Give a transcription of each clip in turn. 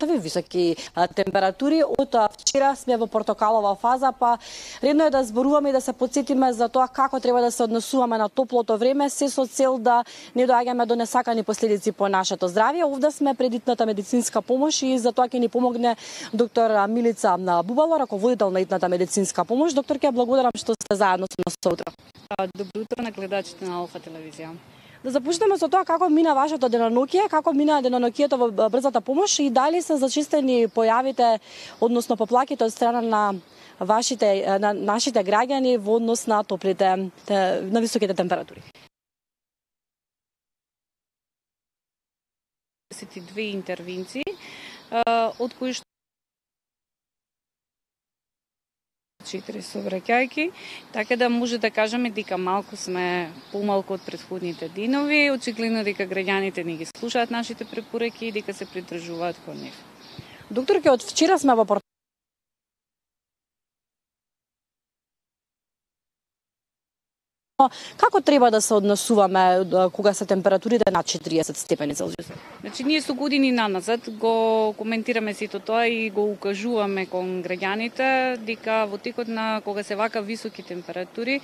такви високи температури. Од вчера сме во портокалова фаза, па редно е да зборуваме и да се потсетиме за тоа како треба да се однесуваме на топлото време, се со цел да не доаѓаме до несакани последици по нашето здравје. Овде сме пред итната медицинска помош и за тоа ќе ни помогне доктор Милица Бубало, раководител на итната медицинска помош. Доктор, ќе благодарам што сте заедно со нас утре. Добро утро на гледачите на Алфа телевизија. Да започнеме со тоа како мина вашето деноноќие, како мина деноноќието во брзата помош и дали се зачистени појавите, односно поплаките од страна на нашите граѓани во однос на на високите температури. 22 интервенции, од кои што 4 сообраќајки, така да може да кажеме дека малку сме помалку од претходните денови. Очигледно дека граѓаните не ги слушаат нашите препораки и дека се придржуваат кон нив. Докторке, од вчера сме во Како треба да се однесуваме кога се температурите над 40 степени Целзиус? Значи, ние со години наназад го коментираме сето тоа и го укажуваме кон граѓаните дека во текот на кога се вака високи температури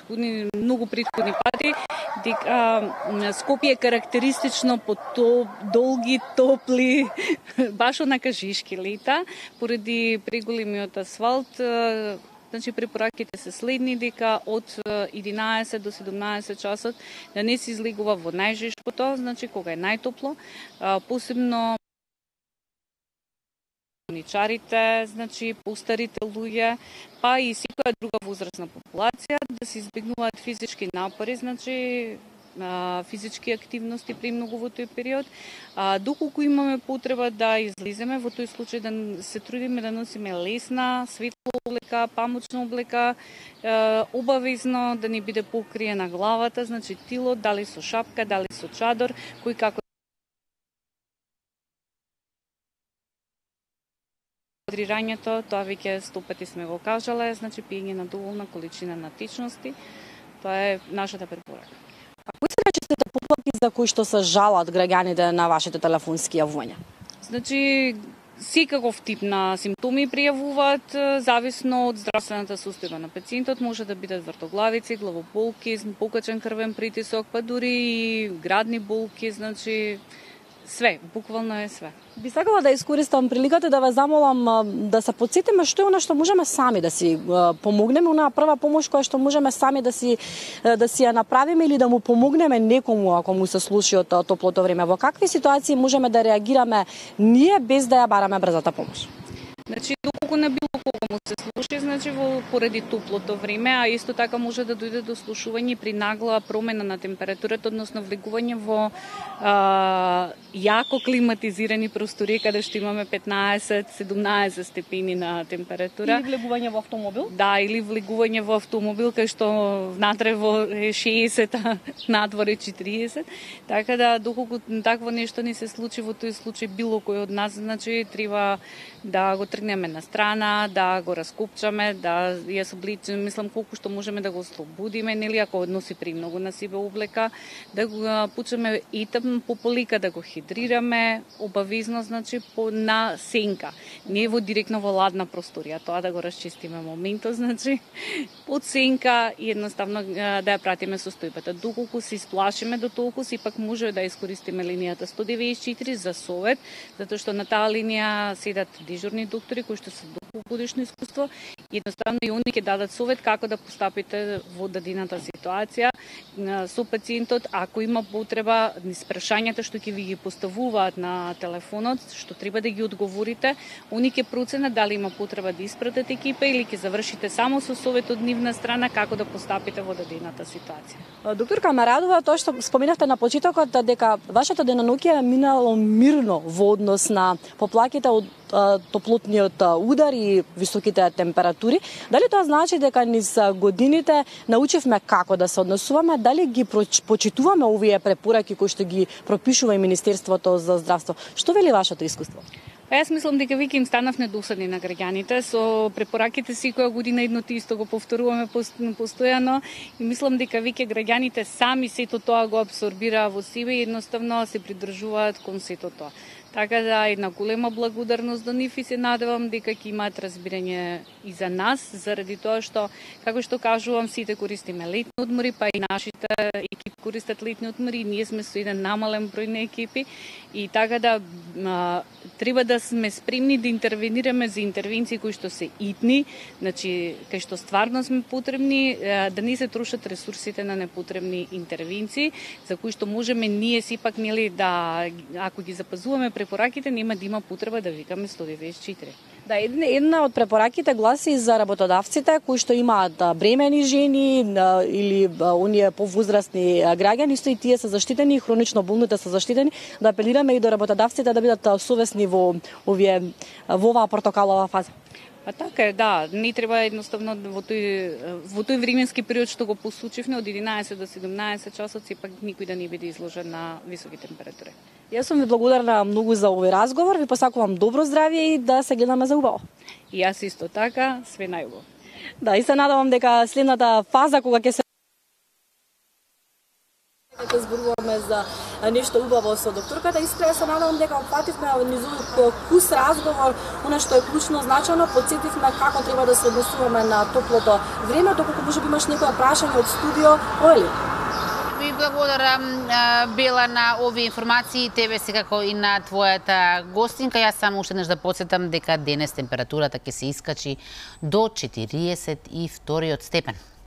многу претходни пати дека Скопје е карактеристично по долги, топли, баш онака жишки лета, поради преголемиот асфалт. Значи, препораките се следни дека од 11 до 17 часот да не се излегува во најжешкото, значи кога е најтопло, посебно болничарите, значи постарите луѓе, па и секоја друга возрастна популација, да се избегнуваат физички напори, значи физички активности премногу во тој период. Доколку имаме потреба да излеземе, во тој случај да се трудиме да носиме лесна, светла облека, памучна облека, обавезно да не биде покриена главата, значи тило, дали со шапка, дали со чадор, кој како Гидрирањето, тоа веќе 100 пати сме го кажале, значи пиење на доволна количина на течности, тоа е нашата препорака. А кои се најчестите поплаки за кои што се жалат граѓаните на вашите телефонски јавувања? Значи, секаков тип на симптоми пријавуваат, зависно од здравствената состојба на пациентот, може да бидат вртоглавици, главоболки, покачен крвен притисок, па дури и градни болки, значи све, буквално е све. Би сакала да искористам приликата да ве замолам да се потсетиме што е она што можеме сами да си помогнеме, онаа прва помош која што можеме сами да си ја направиме или да му помогнеме некому ако му се случи од топлото време. Во какви ситуации можеме да реагираме ние без да ја бараме брзата помош? Значи, доколку на било кого му се слуши, значи поради топлото време, а исто така може да дојде до слушување при нагла промена на температурата, односно влегување во јако климатизирани простори, каде што имаме 15-17 степени на температура. Или влегување во автомобил? Да, или влегување во автомобил, кај што внатре во 60, а надвор е 40. Така да, доколку такво нешто не се случи, во тој случај било кој од нас, значи, треба да го тргнеме на страна, да го раскопчаме, да ја собличиме, мислам колку што можеме да го ослободиме, нели, ако носи премногу на себе облека, да го пучеме и по полика, да го хидрираме, обавезно, значи, на сенка, не во директно во ладна просторија, тоа да го расчистиме моментот, значи, под сенка и едноставно да ја пратиме состојбата. Доколку се исплашиме до толку, сепак може да искористиме линијата 194 за совет, затоа што на таа линија седат дежурни доктори кои што се годишно искуство, едноставно и они ќе дадат совет како да постапите во дадената ситуација со пациентот, ако има потреба, низ прашањата што ќе ви ги поставуваат на телефонот, што треба да ги одговорите, они ќе проценат дали има потреба да испратат екипа или ќе завршите само со совет од нивна страна како да постапите во дадената ситуација. Докторка Марадова, тоа што споменавте на почетокот дека вашето деноноќие е минало мирно во однос на поплаките од топлотниот удар и високите температури. Дали тоа значи дека низ годините научивме како да се однесуваме, дали ги почитуваме овие препораки кои што ги пропишува и Министерството за здравство? Што вели вашето искуство? Јас мислам дека веќе им станав недосадни на граѓаните со препораките секоја година едното исто го повторуваме постојано и мислам дека веќе граѓаните сами сето тоа го абсорбираа во себе и едноставно се придржуваат кон сето тоа. Така да една голема благодарност до нив и се надевам дека ќе имаат разбирање и за нас, заради тоа што, како што кажувам, сите користиме летни одмори, па и нашите екипи користат летни одмори, ние сме со еден намален број на екипи и така да треба да сме спремни да интервенираме за интервенции кои што се итни, значи кај што стварно сме потребни, да не се трошат ресурсите на непотребни интервенции, за кои што можеме ние сепак нели да, ако ги запазуваме препораките, нема да има потреба да викаме 194. Да, една од препораките гласи за работодавците кои што имаат бремени жени или оние повозрастни граѓани, исто и тие се заштитени, хронично болните се заштитени, да апелираме и до работодавците да бидат совесни во оваа портокалова фаза. Па така е, да, не треба едноставно во тој временски период што го посочивме од 11 до 17 часот сепак никој да не биде изложен на високи температури. Јас сум ви благодарна многу за овој разговор, ви посакувам добро здравје и да се гледаме за убаво. И јас исто така, све најубаво. Да, и се надевам дека следната фаза кога ќе се ќе зборуваме за нешто убаво со докторката, искрено се надевам дека опфативме низ овој кус разговор, она што е клучно значено, потсетивме како треба да се однесуваме на топлото време, доколку можеби имаш некоја прашање од студио, Оли? Ви благодарам, Бела, на овие информации, тебе секако и на твојата гостинка. Јас само уште еднаш да потсетам дека денес температурата ќе се искачи до 42 степен.